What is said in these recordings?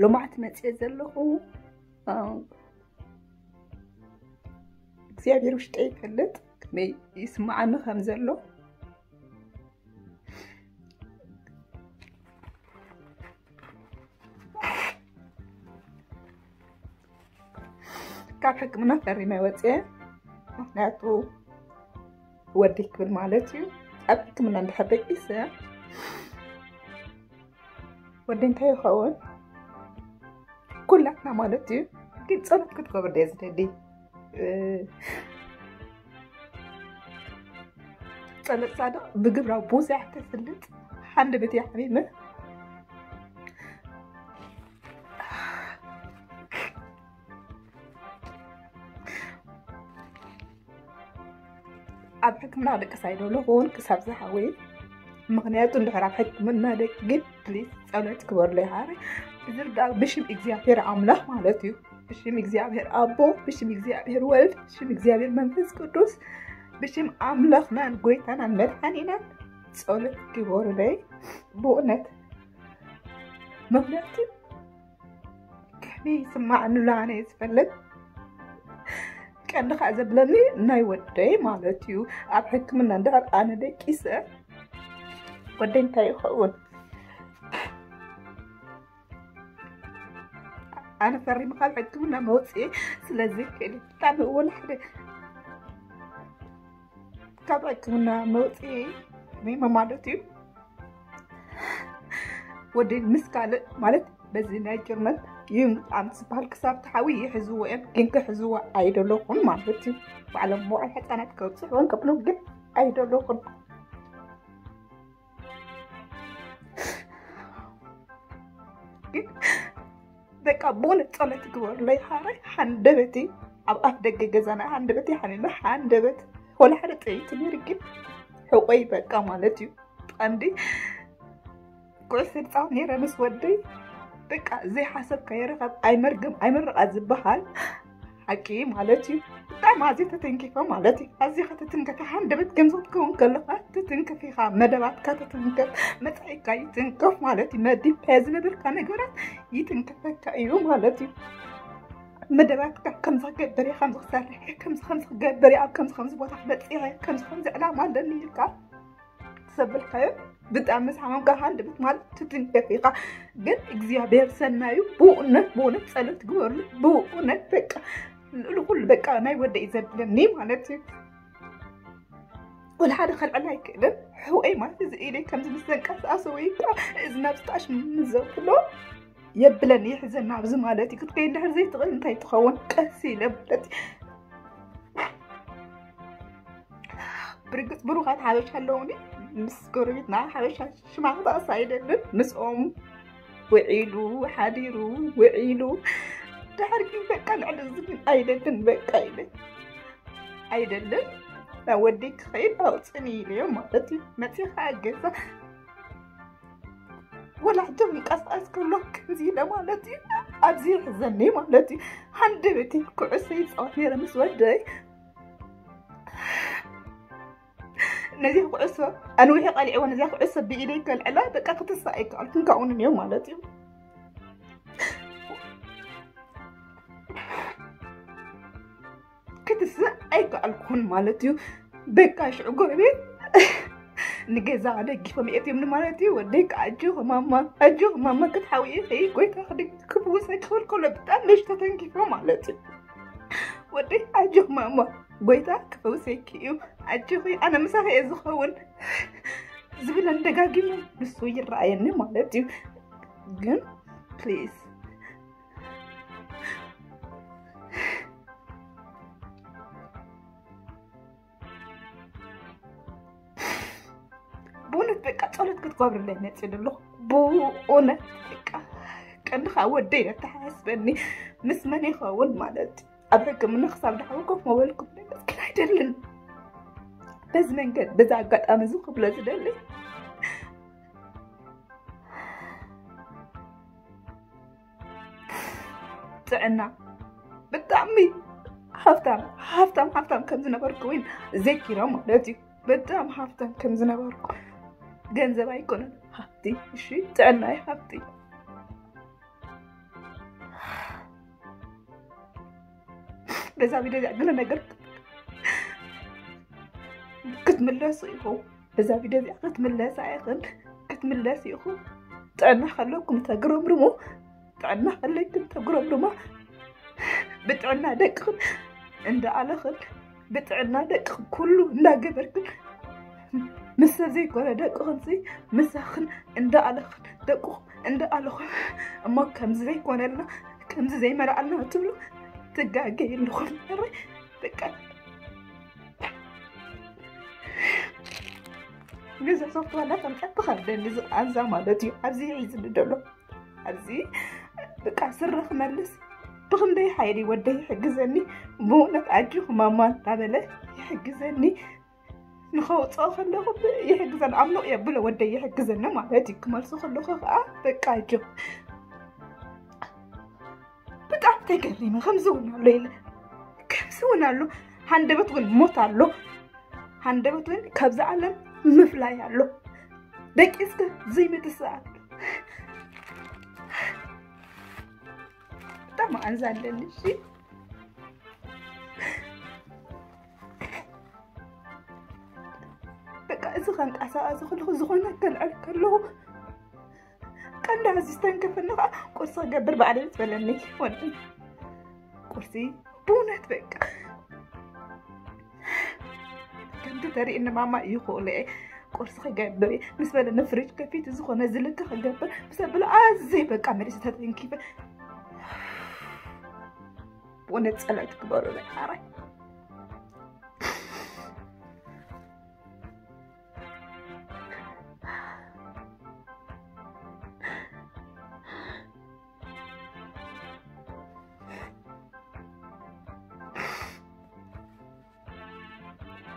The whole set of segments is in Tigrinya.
ሎማዕቲ መፅየ ዘለኹ እግዚኣብሔር ውሽጠ ይፈልጥ ከመይ ይስማዓኒ ከም ዘሎ። ካብ ሕክምና ፈሪመ ወፅየ። ምክንያቱ ወዲ ክብል ማለት እዩ። ኣብ ሕክምና እንድሕር ደቂሰ ወዲ እንታይ ይኸውን? ኩላትና ማለት እዩ። ግን ጸሎት ክትገብር ደየ ዝደሊ። ጸሎት ሳድቕ ብግብራዊ ብዙሕ ተስልጥ። ሓንድ ቤት ሓሚመ ኣብ ሕክምና ደቂ ሳይዶ ለኹን ክሳብ ዝሓወይ። ምክንያቱ እንድሕር ኣብ ሕክምና ደቂ ግን ፕሊስ ጸሎት ክበርሎ ይሃረ። ብዝርዳእ ብሽም እግዚኣብሔር ኣምላኽ ማለት እዩ። ብሽም እግዚኣብሔር ኣቦ፣ ብሽም እግዚኣብሔር ወልድ፣ ብሽም እግዚኣብሔር መንፈስ ቅዱስ፣ ብሽም ኣምላኽናን ጎይታናን መድሓኒናን ጸሎት ግበሩለይ። ብእውነት ምክንያቱ ከመይ ይስማዓኒ ኣሎ ኣነ ዝፈልጥ። ቀንዲ ከዓ ዘብለኒ ናይ ወደይ ማለት እዩ። ኣብ ሕክምና እንድሕር ኣነ ደቂሰ ወደይ እንታይ ይኸውን? ኣነ ፈሪመ ካብ ሕክምና መውፅኤ ስለዚ ክእል ብጣዕሚ እውን ሓደ ካብ ሕክምና መውፅኤ ፈሪመ ማለት እዩ። ወደይ ምስ ካልእ ማለት በዚ ናይ ጀርመን ይምጣም ዝበሃል ክሳብ ተሓዊ ይሕዝዎ እዮም፣ ግን ክሕዝዎ ኣይደለኹን ማለት እዩ። ባዕሎም መውዓል ሕፃናት ከብፅሑን ከብሉ ግን ኣይደለኹን። ግን በቃ ብእውነት ጸሎት ግበሩለይ። ሓራይ ሓንደበተይ ኣብ ኣፍ ደገ ገዛና ሓንደበተይ ሓሚመ ሓንደበት ወላ ሓደ ጥይት ነይሩ ግን ሕቆይ በቃ ማለት እዩ። ቀንዲ ኩዕሶ ይፃወት ነይረ ምስ ወደይ። በቃ ዘይሓሰብካዮ ርኸብ ኣይመርገም ኣይመርቓ ዝበሃል ሓቂ ማለት እዩ። ብጣዕሚ ኣዝየ ተተንኪፈ ማለት እዩ። ኣዝኻ ተትንከፍ፣ ሓንደበት ከምዚ ክትከውን ከለኻ ትትንከፍ ኢኻ። መደባትካ ተትንከፍ፣ መጻኢካ ይትንከፍ ማለት እዩ። መዲብካዮ ዝነበርካ ነገራት ይትንከፈካ እዩ ማለት እዩ። መደባትካ ከምዚ ክገብር እየ፣ ከምዚ ክሰርሕ እየ፣ ከምዚ ከምዚ ክገብር እየ፣ ኣብ ከምዚ ከምዚ ቦታ ክበጽሕ እየ፣ ከምዚ ከምዚ ዕላማ ኣለኒ ኢልካ ዘበልካዮ ብጣዕሚ ምስ ሓመምካ ሃንደበት ማለት ትትንከፍ ኢኻ። ግን እግዚኣብሔር ሰናዩ ብእውነት ብእውነት ጸሎት ግበርሉ። ብእውነት በቃ ልዕሊ ኩሉ በቃ ናይ ወደይ ዘብለኒ ማለት እዩ። ወላ ሓደ ከልዕል ኣይክእልን። ሕውኤ ማለት እዚ ኢደይ ከምዚ ምስ ዘንቀሳእሶ ወይ ከዓ እዚ ናብ ስጣሽ ምስ ዘብሎ የብለኒ፣ ይሕዘና ኣብዚ ማለት እዩ። ክትከይድ እንድሕር ዘይትኽእል እንታይ ትኸውን? ቀስ ኢለ ማለት እዩ። ብርግጽ ብሩኻት ሓበሻ ኣለውኒ። ምስ ጎረቤትና ሓበሻ ሽማ ክጠቕስ ኣይደልን። ምስኦም ውዒሉ ሓዲሩ ውዒሉ ድሕር ግን በቃ ልዕሊ እዚ ግን ኣይደልን በቃ ኢለ ኣይደልን። ናብ ወደይ ክኸይድ ኣውፅኒ ኢለዮ ማለት እዩ። መፂኻ ገዛ ወላ ሕጂ ክንቀሳቀስ ከሎ ከምዚ ኢለ ማለት እዩ። ኣብዚ ይሕዘኒ ማለት እዩ። ሓንደበተይ ኩዕሶ ይፃወት ነይረ ምስ ወደይ። ነዚ ኩዕሶ ኣንዊሐ ቀሊዕዎ፣ ነዚኣ ኩዕሶ ብኢደይ ከልዕላ በቃ ክትስእ ኣይከኣልኩን፣ ካብኡ ንንዮ ማለት እዩ። ክትስእ ኣይከኣልኩን ማለት እዩ። በቃ ሽዑ ጎረቤት ንገዛ ደጊፎም የእትዮምኒ ማለት እዩ። ወደይ ከዓ ኣጆኺ ማማ፣ ኣጆኺ ማማ ክትሓዊ ኢኺ፣ ጎይታ ክድ-፣ ክፍውሰኪ ክብል ከሎ ብጣዕሚ ነሽ ተተንኪፎ ማለት እዩ። ወደይ ኣጆኺ ማማ፣ ጎይታ ክፈውሰኪ እዩ፣ ኣጆኺ ኣነ ምሳኺ እየ ዝኸውን ዝብለን ደጋጊሙ ንሱ ይረኣየኒ ማለት እዩ። ግን ፕሊዝ ብእውነት በቃ ጸሎት ክትገብርለይ መጽእ ኣለኹ። ብእውነት በቃ ቀንድኻ ወደይ ኣተሓሳስበኒ ምስ መን ይኸውን ማለት ኣብ ሕክምና ክሳብ ድሓዊ ኮፍ መበልኩ መስክን ኣይደልን። በዚ መንገድ በዚ ኣጋጣሚ እዚ ክብሎ ዝደሊ ጥዕና ብጣዕሚ ሃፍታም ሃፍታም ሃፍታም ከም ዝነበርኩ እውን ዘኪሮም ማለት እዩ። በጣም ሃፍታም ከም ዝነበርኩ ገንዘብ ኣይኮነን ሃፍቲ፣ እሺ ጥዕና እዩ ሃፍቲ። በዛ ቪድዮ እዚኣ ገለ ነገር ክትምለሱ ኢኹም። በዛ ቪድዮ እዚኣ ክትምለሳ ኢኽን፣ ክትምለስ ኢኹም። ጥዕና ከለኩም ተግረምርሙ፣ ጥዕና ከለይክን ተግረምርማ። ብጥዕና ደቅኽን እንዳኣለኽን፣ ብጥዕና ደቅኽን ኩሉ እንዳገበርክን፣ ምስ ሰብ ዘይኮነ ደቅኽን ሲ ምሳኽን እንዳኣለኽን፣ ደቅኹም እንዳኣለኹም፣ እሞ ከምዚ ዘይኮነልና፣ ከምዚ ዘይመርኣልና ትብሉ ትጋገዩ ኣለኹም። እረ በቃ፣ ገዛ ሶፍት ዋላ ከምፀት ትኸብደኒ ዝቃንዛ ማለት እዩ። ኣብዚ ሒዝኒ ደሎ፣ ኣብዚ በቃ ስረ ክመልስ ብኽንደይ ሓይሊ ወደይ ይሕግዘኒ። ብእውነት ኣጆኹ ማማ እንዳበለ ይሕግዘኒ። ንኸውፅኦ ከለኹ ብ-፣ ይሕግዘኒ፣ ኣምልቕ የብሎ ወደይ ይሕግዘኒ ማለት እዩ። ክመልሶ ከለኹ ከዓ በቃ ኣጆ። ብጣዕሚ ተገሪመ። ከምዚ እውን ኣሎ ኢለ፣ ከምዚ እውን ኣሎ። ሃንደበት እውን ሞት ኣሎ። ሃንደበት እውን ካብዚ ዓለም ምፍላይ ኣሎ። ደቂስካ ዘይምትስኣል። ብጣዕሚ ኣንዛ ኣለኒ። እሺ፣ በቃ እዚ ከንቀሳቐስ ከለኹ፣ ዝኾነ ከልዕል ከለኹ፣ ቀንዲ ኣዚ ዝተንከፈኒ ከዓ ቁርሲ ክገብር ባዕለይ ምስ በለኒ፣ ወዲ ቁርሲ ብእውነት በቃ ከምቲ ተሪእኒ ማማ ይኽእሎ እየ፣ ቁርሲ ክገብር እየ ምስ በለኒ፣ ፍሪጅ ከፊቱ ዝኾነ ዝልከ ክገብር ምስ ኣበለ፣ ኣዝየ በቃ መሊሰ ተተንኪፈ። ብእውነት ጸሎት ግበሩለይ ሓራይ።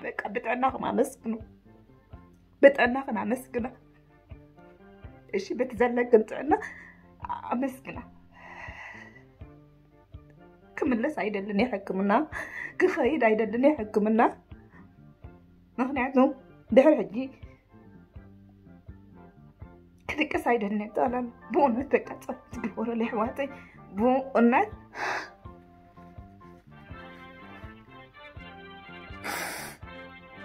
በቃ ብጥዕናኹም ኣመስግኑ፣ ብጥዕናኽን ኣመስግና። እሺ፣ በቲ ዘለክን ጥዕና ኣመስግና። ክምለስ ኣይደልን እየ ሕክምና፣ ክኸይድ ኣይደልን እየ ሕክምና። ምኽንያቱ ድሕሪ ሕጂ ክድቅስ ኣይደልን እየ። ጠቕላላ ብእውነት በቃ ጸሎት ትግበረለይ ኣሕዋተይ፣ ብእውነት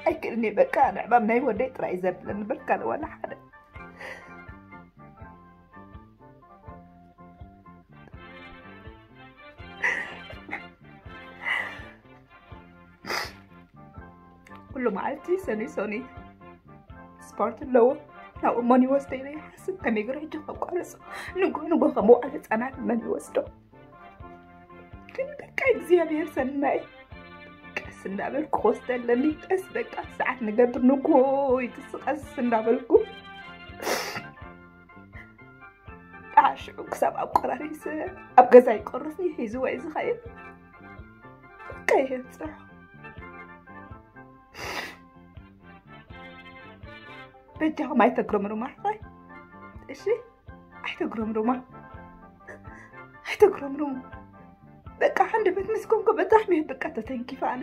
ኣይክእልን እየ። በቃ ንዕማም ናይ ወደይ ጥራይ ዘብለኒ በቃ ዋላ ሓደ። ኩሉ መዓልቲ ሰኑይ ሰኑይ ስፖርት ኣለዎ። ናብኡ መን ይወስዶ ኢለ ይሓስብ፣ ከመይ ገይሩ ሕጂ ከቋርጾ? ንጎ ንጎ ከም መዋዕለ ህጻናት መን ይወስዶ? ግን በቃ እግዚኣብሔር ሰናይ፣ ቀስ እንዳበልኩ ክወስደ ኣለኒ። ቀስ በቃ ሰዓት ንገብር፣ ንጎ ይትስ ቀስ እንዳበልኩ ከዓ ሽዑ ክሳብ ኣቆራሪሰ ኣብ ገዛ ይቆርስኒ ሒዝዎ እዩ ዝኸይድ። በቃ ይሄ ጽሑ። በጃኹም ኣይተግረምሩማ ኣሕዋይ። እሺ፣ ኣይተግረምሩማ። ኣይተግረምሩም። በቃ ሓንደበት ምስ ኮንኩ በጣዕሚ እየ በቃ ተተንኪፈ ኣነ።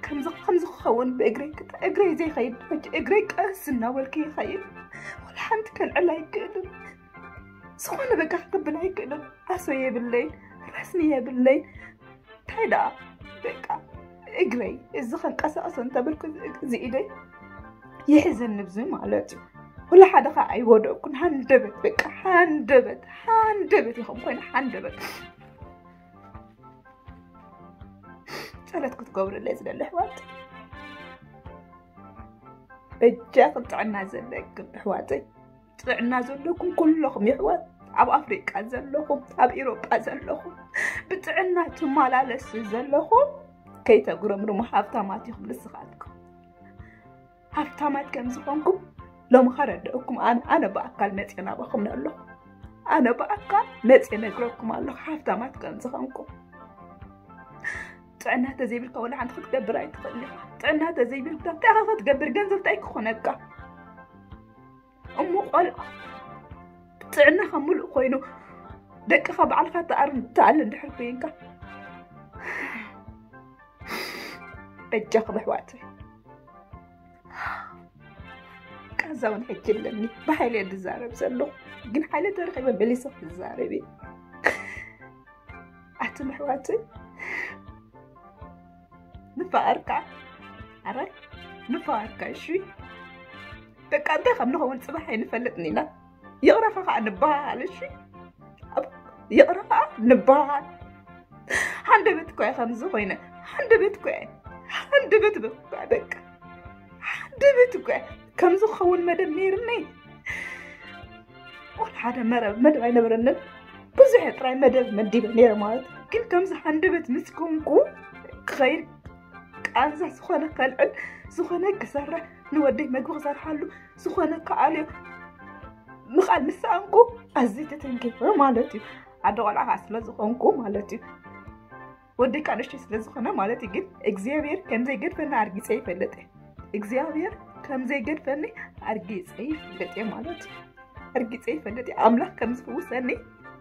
ከምዚ፣ ከምዚ ክኸውን ብእግረይ ክተ-፣ እግረይ ዘይኸይድ፣ ሕጂ እግረይ ቀስ እናበልኩ ይኸይድ። ወላ ሓንቲ ከልዕል ኣይክእልን። ዝኾነ በቃ ክብል ኣይክእልን። ኣሶ የብለይን፣ ረስኒ የብለይን። እንታይ ደኣ በቃ እግረይ እዚ ከንቀሳቕሶ እንተበልኩ እዚ ኢደይ ይሕዘኒ ብዚ ማለት እዩ። ወላ ሓደ ኸዓ ኣይወደቅኩን። ሃንደበት በቃ ሃንደበት፣ ሃንደበት ኢኹም ኮይነ ሃንደበት። ጸሎት ክትገብሩለይ ዝደሊ ኣሕዋት፣ በጃኹም ጥዕና ዘለኩም ኣሕዋተይ፣ ጥዕና ዘለኩም ኩለኹም የሕዋት፣ ኣብ ኣፍሪቃ ዘለኹም፣ ኣብ ኤሮጳ ዘለኹም፣ ብጥዕና ትመላለሱ ዘለኹም፣ ከይተጉረምርሙ፣ ሃብታማት ኢኹም ንስኻትኩም። ሃብታማት ከም ዝኾንኩም ሎሚ ከረድአኩም፣ ኣነ፣ ኣነ ብኣካል መፅየ ናባኹም ኣለኹ። ኣነ ብኣካል መፅየ ነግረኩም ኣለኹ፣ ሃብታማት ከም ዝኾንኩም። ጥዕና ተዘይብልካ ወላ ሓንቲ ክትገብር ኣይትኽእል ኢኻ። ጥዕና ተዘይብልካ እንታይ ኢኻ ክትገብር? ገንዘብ እንታይ ክኾነካ? እሞ ቆልዓ ጥዕናኻ ምሉእ ኮይኑ ደቅኻ ባዕልኻ ትኣር-፣ ትኣሊ እንድሕር ኮይንካ፣ በጃኹም ኣሕዋተይ፣ ቃዛ እውን ሕጂ ኣለኒ። ብሓይሊ እየ ዝዛረብ ዘለኹ፣ ግን ሓይሊ ተረኺበ መሊሰ ክዛረብ እየ። ኣቱም ኣሕዋተይ፣ ንፋቐርካ። ኣረ ንፋቐርካ። እሺ በቃ እንታይ ከም ንኸውን ጽባሕ ኣይንፈልጥን ኢና። ይቕረኻ ከዓ ንበሃል። እሺ ይቕረኻ ንበሃል። ሓንደበት እኮ እየ ከምዚ ኮይነ። ሓንደበት እኮ እየ። ሓንደበት በቃ ሓንደበት እኮ እየ። ከምዚ ክኸውን መደብ ነይርኒ። ወላ ሓደ መረብ መደብ ኣይነበረንን። ብዙሕ ጥራይ መደብ መዲበ ነይረ ማለት እዩ። ግን ከምዚ ሓንደበት ምስ ኮንኩ ክኸይድ ቃንዛ ዝኾነ ከልዕል ዝኾነ ክሰርሕ ንወደይ መግቢ ክሰርሓሉ ዝኾነ ክኣልዮ ምኽኣል ምስ ሰኣንኩ ኣዝየ ተተንኪፈ ማለት እዩ። ኣደ ቆልዓ ከዓ ስለ ዝኾንኩ ማለት እዩ። ወደይ ከዓ ንእሽተይ ስለ ዝኾነ ማለት እዩ። ግን እግዚኣብሔር ከም ዘይገድፈና ኣርጊፀ ይፈልጥ እየ። እግዚኣብሔር ከም ዘይገድፈኒ ኣርጊፀ ይፈልጥ እየ ማለት እዩ። ኣርጊፀ ይፈልጥ እየ ኣምላኽ ከም ዝፍውሰኒ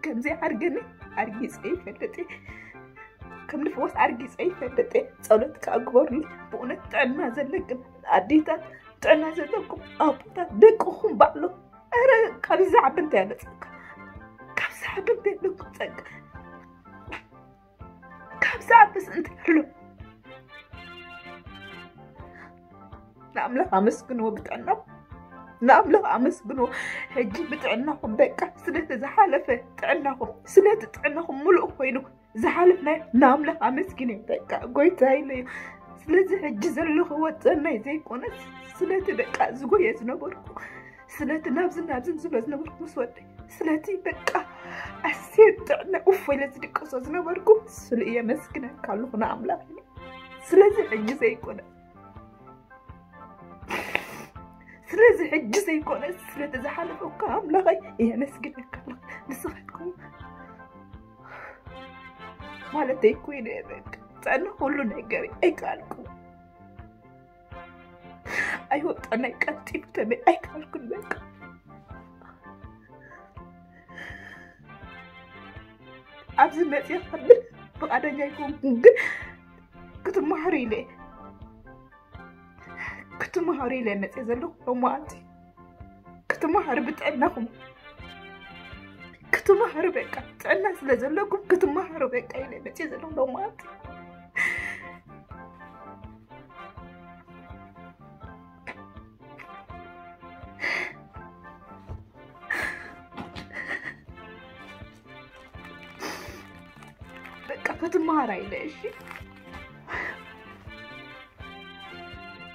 ከም ዘይዓርገኒ ኣርጊፀ ይፈልጥ እየ። ከም ንፍወስ ኣርጊፀ ይፈልጥ እየ። ጸሎት ከዓ ግበሩኒ። ብእውነት ጥዕና ዘለክን ኣዴታት ጥዕና ዘለኩም ኣቦታት ደቅኹም ባዕሎም ረ ካብዚ ዓቢ እንታይ ኣለጸካ? ካብዚ ዓቢ እንታይ ኣለኩም ጸጋ? ካብዚ ዓብስ እንታይ ኣሎ? ንኣምላኽ ኣመስግንዎ ብጥዕናኹም። ንኣምላኽ ኣመስግንዎ። ሕጂ ብጥዕናኹም በቃ ስለቲ ዝሓለፈ ጥዕናኹም ስለቲ ጥዕናኹም ሙሉእ ኮይኑ ዝሓለፍናዮ ንኣምላኽ ኣመስግንዮ። በቃ ጎይታ ኢለዮ። ስለዚ ሕጂ ዘለኹዎ ጥዕናይ ዘይኮነስ ስለቲ በቃ ዝጎየ ዝነበርኩ ስለቲ ናብዚ ናብዚ ዝብሎ ዝነበርኩ ምስ ወደይ ስለቲ በቃ ኣሴት ጥዕና ኡፍ ኢለ ዝድቅሶ ዝነበርኩ ስሉ እየ መስግነካ ኣለኹ ንኣምላኽ ኢለ። ስለዚ ሕጂ ዘይኮነ ስለዚ ሕጂ ዘይኮነ ስለቲ ዝሓለፈ እኮ ኣምላኸይ እየ መስግነካ ኣለኹ። ንስኻትኩም ማለተይ እኮ እየ በቃ ጥዕና ኩሉ ነገር ኣይከኣልኩ ኣይወጣናይ ቀልጢፉ ተመይ ኣይከኣልኩን በቃ ኣብዚ መፅእ ከብል ፍቓደኛ ኣይኮንኩን ግን ክትመሃሩ ኢለ ክትመሃሩ ኢለ መፅእ ዘለኹ ሎማዓንቲ ክትመሃሩ ብጥዕናኹም ክትመሃሩ በቃ ጥዕና ስለ ዘለኩም ክትመሃሩ በቃ ኢለ መፅእ ዘለኹ ሎማዓንቲ በቃ ክትመሃራ ኢለ እሺ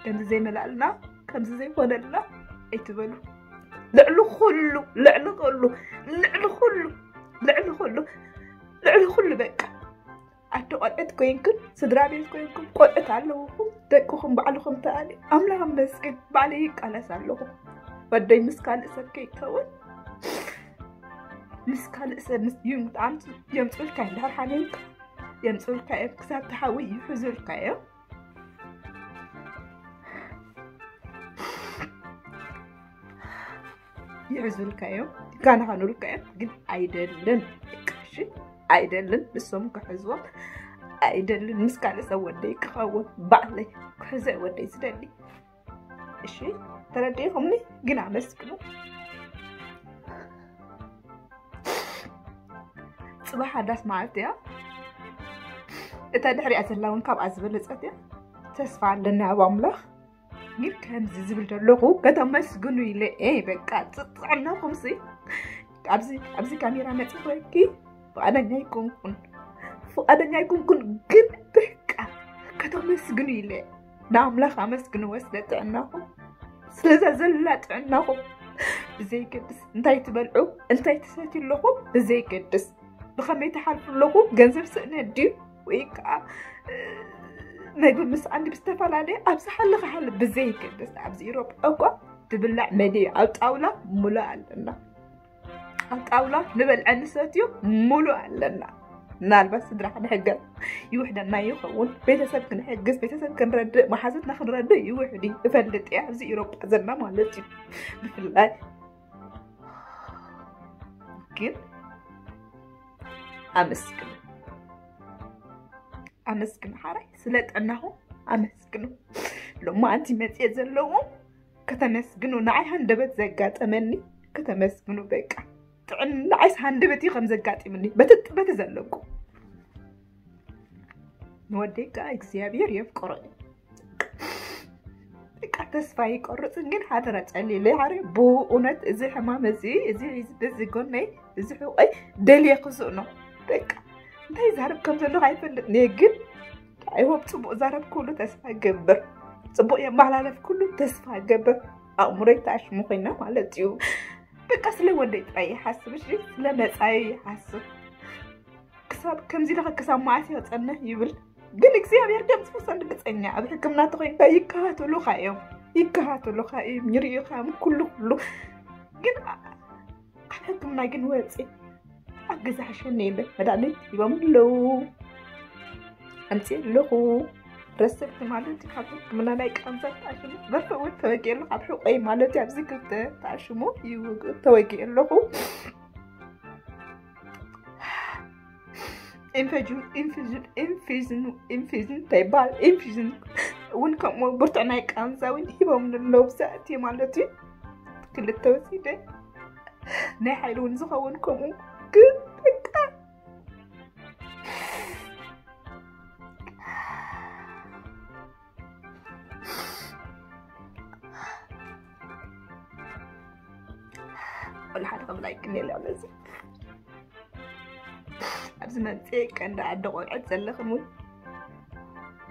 ከምዚ ዘይመላልና ከምዚ ዘይኮነልና ኣይትበሉ ልዕሊ ኩሉ ልዕሊ ኩሉ ልዕሊ ኩሉ ልዕሊ ኩሉ ልዕሊ ኩሉ በቃ ኣደ ቆልዕት ኮይንክን ስድራ ቤት ኮይንኩም ቆልዕት ኣለውኹም ደቅኹም ባዕልኹም ተኣሊ ኣምላኽ መስግን ባዕለ ይቃለስ ኣለኹ ወደይ ምስ ካልእ ሰብ ከይከውን ምስ ካልእ ሰብ ምስ የምፅኡልካ እዮም ድሕር ሓሚምካ የምፅኡልካ እዮም ክሳብ ተሓዊ ይሕዙልካ እዮም ይሕዙልካ እዮም ይካናኸኑልካ እዮም ግን ኣይደልን እሺ ኣይደልን ንሶም ክሕዝዎም ኣይደልን ምስ ካልእ ሰብ ወደይ ክኸውን ባዕለይ ክሕዘ ወደይ ዝደሊ እሺ ተረዲእኹምኒ ግን ኣመስግኑ ፅባሕ ኣዳስ መዓልቲ እያ እታ ድሕሪያ ዘላ እውን ካብኣ ዝበለፀት እያ ተስፋ ኣለኒ ኣብ ኣምላኽ ግን ከምዚ ዝብል ዘለኹ ከተመስግኑ ኢለ እየ በቃ ጥዕናኹምሲ ኣብዚ ኣብዚ ካሜራ መፅእ ኮይንኪ ፍቓደኛ ኣይኮንኩን ፍቓደኛ ኣይኮንኩን ግን በቃ ከተመስግኑ ኢለ ንኣምላኽ ኣመስግንዎ ስለ ጥዕናኹም ስለዛ ዘላ ጥዕናኹም ብዘይገድስ እንታይ ትበልዑ እንታይ ትሰትዩ ኣለኹም ብዘይገድስ ብኸመይ ትሓልፉ ኣለኹ ገንዘብ ስእነት ድዩ ወይ ከዓ መግቢ ምስ ኣንዲ ብዝተፈላለየ ኣብ ዝሓለኸ ሓሊ ብዘይገድስ ኣብዚ ኢሮጳ እኳ ትብላዕ መዲ ኣብ ጣውላ ሙሉእ ኣለና ኣብ ጣውላ ንበልዐ ንሰትዮ ሙሉእ ኣለና ምናልባት ስድራ ክንሕገዝ ይውሕደና ይኸውን ቤተሰብ ክንሕግዝ ቤተሰብ ክንረድእ መሓዘትና ክንረድእ ይውሕድ እዩ እፈልጥ እየ ኣብዚ ኢሮጳ ዘለና ማለት እዩ ብፍላይ ግን ኣመስግኑ ኣመስግኑ ሓራይ ስለ ጥዕናኹም ኣመስግኑ ሎማዓንቲ መፅየ ዘለዎም ከተመስግኑ ንዓይ ሃንደበት ዘጋጠመኒ ከተመስግኑ በቃ ጥዕና ንዓይስ ሃንደበት እዩ ከም ዘጋጢምኒ በቲ በቲ ዘለኩም ንወደይ ከዓ እግዚኣብሔር የፍቅሮ እዩ። በቃ ተስፋ ይቆርፅን ግን ሓደራ ጨሊለ ሓረ ብእውነት እዚ ሕማም እዚ እዚ እዚ ጎነይ እዚ ሕቆይ ደልየ ክስእ ነው። በቃ እንታይ ዛረብ ከም ዘለኹ ኣይፈልጥን እየ ግን ኣይሆብ ፅቡቅ ዛረብ ኩሉ ተስፋ ገብር፣ ፅቡቅ የመሓላለፍ ኩሉ ተስፋ ገብር። ኣእምሮይ ተኣሽሙ ኮይና ማለት እዩ። በቃ ስለ ወደይ ጥራይ ይሓስብ እሺ፣ ስለ መፃዩ ይሓስብ። ክሳብ ከምዚ ለኸ ክሳብ መዓስ እየ ክፀንሕ ይብል። ግን እግዚኣብሔር ከም ዝፈሰሉ ብፀኛ ኣብ ሕክምና ተኮይንካ ይከታተሉካ እዮም፣ ይከታተሉካ እዮም፣ ይርእዩካ እዮም ኩሉ ኩሉ። ግን ኣብ ሕክምና ግን ወፂ ኣብ ገዛ ሓሸኒ የለ መድሃኒት ሂቦም ኣለዉ። ኣምፅእ ኣለኹ ረሰብቲ ማለት ካብ ሕክምና ናይ ቃንዛ ተኣሽሙ በርፈ እውን ተወጊኡ ኣለኹ ኣብ ሕቆይ ማለት እዩ። ኣብዚ ክልተ ተኣሽሙ ይውግ- ተወጊኡ ኣለኹ። ኢንፌጅን ኢንፌጅን ኢንፌጅን ኢንፌጅን እንታይ ይበሃል? ኢንፌጅን እውን ከምኡ ብርቱዕ ናይ ቃንዛ እውን ሂቦም ኣለዉ ብዛእቲ ማለት እዩ። ክልተ ወሲደ ናይ ሓይሊ እውን ዝኸውን ከምኡ ግን በቃ ወላ ሓደ ክብል ኣይክእል ኣሎ እዚ ኣብዚ መምፅእ ቀንዲ ኣደ ቆልዕት ዘለኽን እውን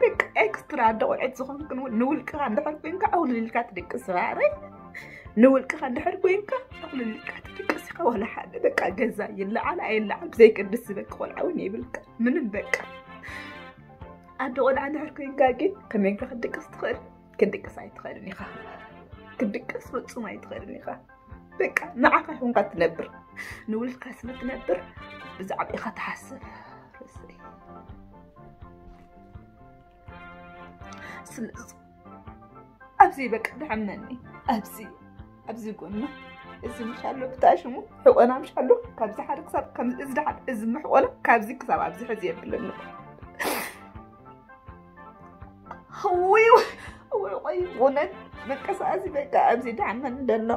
በቃ ኤክስትራ ኣደ ቆልዕት ዝኾንክን እውን ንውልቅኻ እንድሕር ኮንካ ኣውልልካ ትድቅስ ባዕረይ ንውልቅኻ እንድሕር ኮንካ ኣውልልካ ትድቅስ ኢኻ። ዋላ ሓደ በቃ ገዛ ይለዓል ኣይለዓል ብዘይቅድስ ዝበክ ቆልዓ እውን የብልካ ምንም በቃ ኣደ ቆልዓ እንድሕር ኮንካ ግን ከመይንካ ክትድቅስ ትኽእል? ክትድቅስ ኣይትኽእልን ኢኻ። ክትድቅስ ፍጹም ኣይትኽእልን ኢኻ። በቃ ንዓኻ ይኹንካ ትነብር ንውልድካ ስለ ትነብር ብዛዕባ ኢኻ ትሓስብ። ስለዚ ኣብዚ በቃ ድሕመኒ ኣብዚ ኣብዚ ጎና እዚ ምሻሎ ብታሽሙ ሕቆና ምሻሎ ካብዚ ሓደ ክሳብ ከምዚ እዚ ድሓር እዚ ምሕቆና ካብዚ ክሳብ ኣብዚ ሕዚ የብለኒ። ውይ ውይ ቆይ እውነት ምንቅስቃስ በቃ ኣብዚ ድሓመኒ ደሎ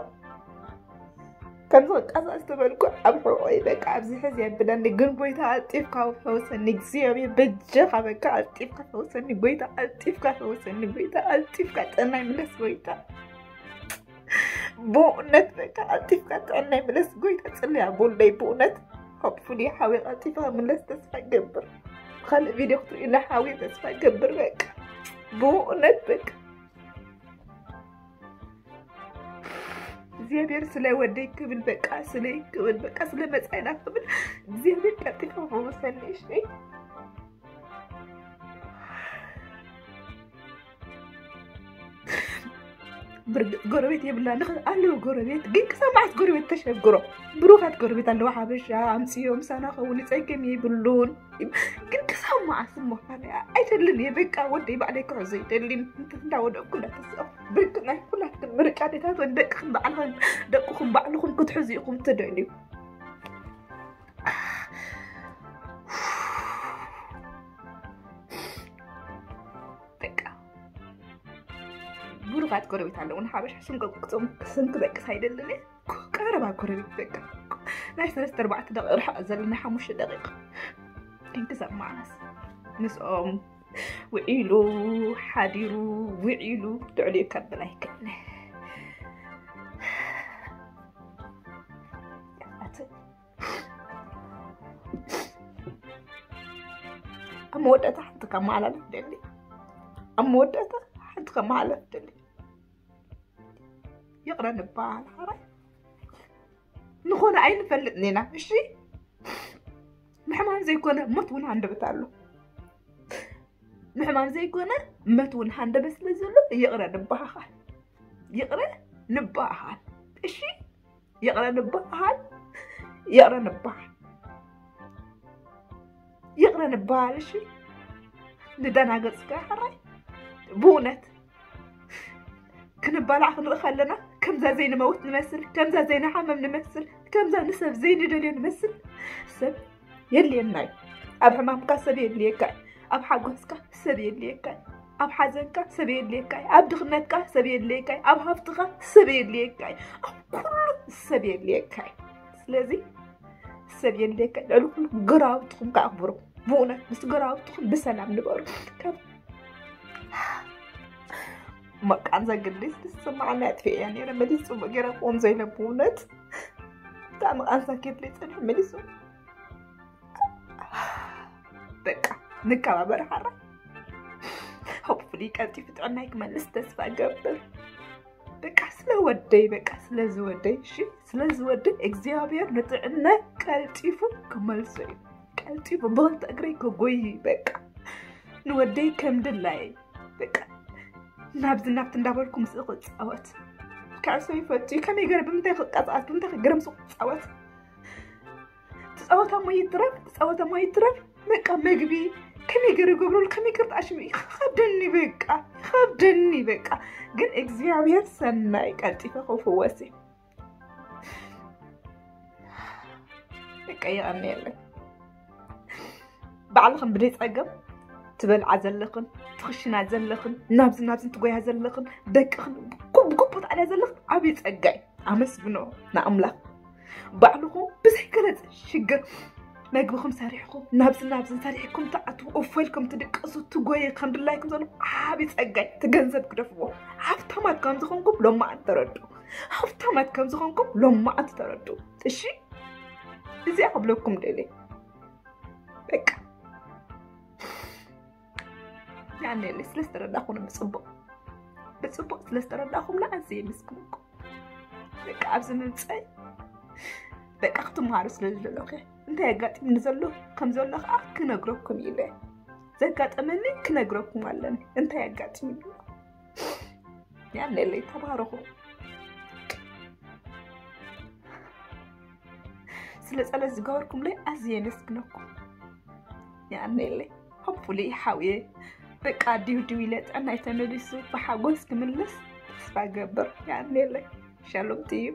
ከምዚ ቅቃሳ ዝተበልኩ ኣብ ሕቆይ በቃ ኣብዚ ሕዚ የብለኒ ግን ጎይታ ኣልጢፍካ ፈውሰኒ እግዚኣብሔር በጀኻ በቃ ኣልጢፍካ ፈውሰኒ ጎይታ ኣልጢፍካ ፈውሰኒ ጎይታ ኣልጢፍካ ጥዕናይ ምለስ ጎይታ ብእውነት በቃ ኣልጢፍካ ጥዕናይ ምለስ ጎይታ ጽልያ ቦለይ ብእውነት hopefully ሓዊ ቀልጢፍካ ምለስ ተስፋ ገብር ካልእ ቪድዮ ክትርእዩና ሓዊ ተስፋ ገብር በቃ ብእውነት በቃ እግዚኣብሔር ስለ ወደይ ክብል በቃ ስለይ ክብል በቃ ስለ መጻይና ክብል እግዚኣብሔር ቀልጢፍካ ፈውሰኒ እሺ ብርግፅ ጎረቤት የብላ ንኽ ኣለዉ ጎረቤት ግን ክሳብ መዓስ ጎረቤት ተሸግሮ ብሩኻት ጎረቤት ኣለዋ ሓበሻ ኣምፅዮ ምሳና ከውን ፀገም የብሉን ግን ክሳብ መዓስ እሞ ኣይደልን እየ በቃ ወደይ ባዕለይ ክሕዞ ይደልን እንዳወደቅኩ እንዳተስኦ ብርግፅ ናይ ኩላትክን ምርጫ ዴታት ወን ደቅክን ባዕልኽን ደቅኹም ባዕልኹም ክትሕዙ ኢኹም ትደልዩ በቃ ብሩኻት ጎረቤት ኣለውን ሓበሻ ስንቆም ክፅም ስንክ በቅስ ኣይደልን ቀረባ ጎረቤት በቃ ናይ ሰለስተ ኣርባዕተ ደቂቕ ርሕቐት ዘለና ሓሙሽተ ደቂቕ ክንክሰብ መዓስ ምስኦም ውዒሉ ሓዲሩ ውዒሉ ልዕሊኡ ከብል ኣይክእልን ኣብ መወዳእታ ሓንቲ ከመሓላልፍ ደሊ ኣብ መወዳእታ ሓንቲ ከመሓላልፍ ደሊ ይቕረ ንበሃል ሓራይ ንኾነ ኣይንፈልጥን ኢና እሺ ምሕማም ዘይኮነ ሞት እውን ሃንደበት ኣሎ ምሕማም ዘይኮነ መት እውን ሃንደበት ስለ ዘሎ ይቕረ ንበሃሃል ይቕረ ንበሃሃል እሺ ይቕረ ንበሃል ይቕረ ንበሃል ይቕረ ንበሃል እሺ ንደናገፅካ ሕራይ ብእውነት ክንባላዕ ክንርኢ ከለና ከምዛ ዘይንመውት ንመስል ከምዛ ዘይንሓመም ንመስል ከምዛ ንሰብ ዘይንደልዮ ንመስል ሰብ የድልየና እዩ ኣብ ሕማምካ ሰብ የድልየካ እዩ ኣብ ሓጎስካ ሰብ የድልየካ እዩ ኣብ ሓዘንካ ሰብ የድልየካ እዩ ኣብ ድኽነትካ ሰብ የድልየካ እዩ ኣብ ሃብትኻ ሰብ የድልየካ እዩ ኣብ ኩሉ ሰብ የድልየካ እዩ ስለዚ ሰብ የድልየካ እዩ ልዕሊ ኩሉ ግራውትኹም ከኣክብሩ ብእውነት ምስ ጎረባብትኹም ብሰላም ንበሩ። ካብ መቃን ዘግድስ ዝስማዓና ኣጥፊኤያ ነይረ። መሊስ ጽቡቅ ገይረ ክቆም ዘይለ ብእውነት ብጣዕሚ ቃንሳ ኬድለይ ጸኒሑ መሊሱ። በቃ ንከባበር ሓራ። ሆፕፉሊ ቀልጢፉ ጥዕናይ ክመልስ ተስፋ ገብር። በቃ ስለ ወደይ፣ በቃ ስለ ዝወደይ፣ እሺ ስለ ዝወደይ እግዚኣብሔር ንጥዕናይ ቀልጢፉ ክመልሶ እዩ። ቀልጢፉ ብክልተ እግረይ ክጎይ በቃ ንወደይ ከም ድላየ በቃ ናብዚ ናብቲ እንዳበልኩ ምስኡ ክፃወት። ከዕሶ ይፈቱ እዩ። ከመይ ገይረ ብምንታይ ክቀፃዓት፣ ብምንታይ ገይረ ምስኡ ክፃወት? ትፃወታ ሞ ይትረፍ፣ ትፃወታ ሞ ይትረፍ። በቃ መግቢ ከመይ ገይረ ይገብረሉ፣ ከመይ ገይረ ተኣሽሙ ይኸብደኒ፣ በቃ ይኸብደኒ በቃ። ግን እግዚኣብሔር ሰናይ ቀልጢፈ ክፍወስ እየ። በቃ የቐንየለይ። ባዕልኽን ብደይ ጸገም ትበልዓ ዘለኽን ትኽሽና ዘለኽን ናብዚ ናብዚ ትጎያ ዘለኽን ደቅኽን ጉብ ጉብ ትኣልያ ዘለኽን ዓብዪ ጸጋ እዩ። ኣመስግኖ ንኣምላኽ። ባዕልኹም ብዘይ ገለ ሽግር መግብኹም ሰሪሕኩም ናብዚ ናብዚ ሰሪሕኩም ትኣትዉ እፎ ኢልኩም ትድቅሱ ትጎዩ ከም ድላይኩም ዘለኹም ዓብዪ ጸጋ እዩ። እቲ ገንዘብ ግደፍዎ። ሃብታማት ከም ዝኾንኩም ሎማዓንቲ ተረድኡ። ሃብታማት ከም ዝኾንኩም ሎማዓንቲ ተረድኡ። እሺ እዚኣ ክብለኩም ደልየ በቃ ያኔ ስለ ዝተረዳኹም ብፅቡቅ ብፅቡቅ ስለ ዝተረዳኹም ንኣዝየ የመስግነኩም። በቃ ኣብዚ ምምፀይ በቃ ክትመሃሩ ስለ ዝደለኹ እንታይ ኣጋጢምኒ ዘሎ ከም ዘሎ ከዓ ክነግረኩም ኢለ ዘጋጠመኒ ክነግረኩም ኣለኒ። እንታይ ኣጋጢምኒ ያኔለይ ተባረኹ። ስለ ጸሎት ዝገበርኩምለይ ኣዝየ የመስግነኩም። ያኔለይ ሆፕፉሊ ሓውየ በቃ ዲው ዲው ኢለ ጥዕናይ ተመሊሱ ብሓጎስ ክምለስ ተስፋ ገብር። ያኔለይ ሻሎም ትዩ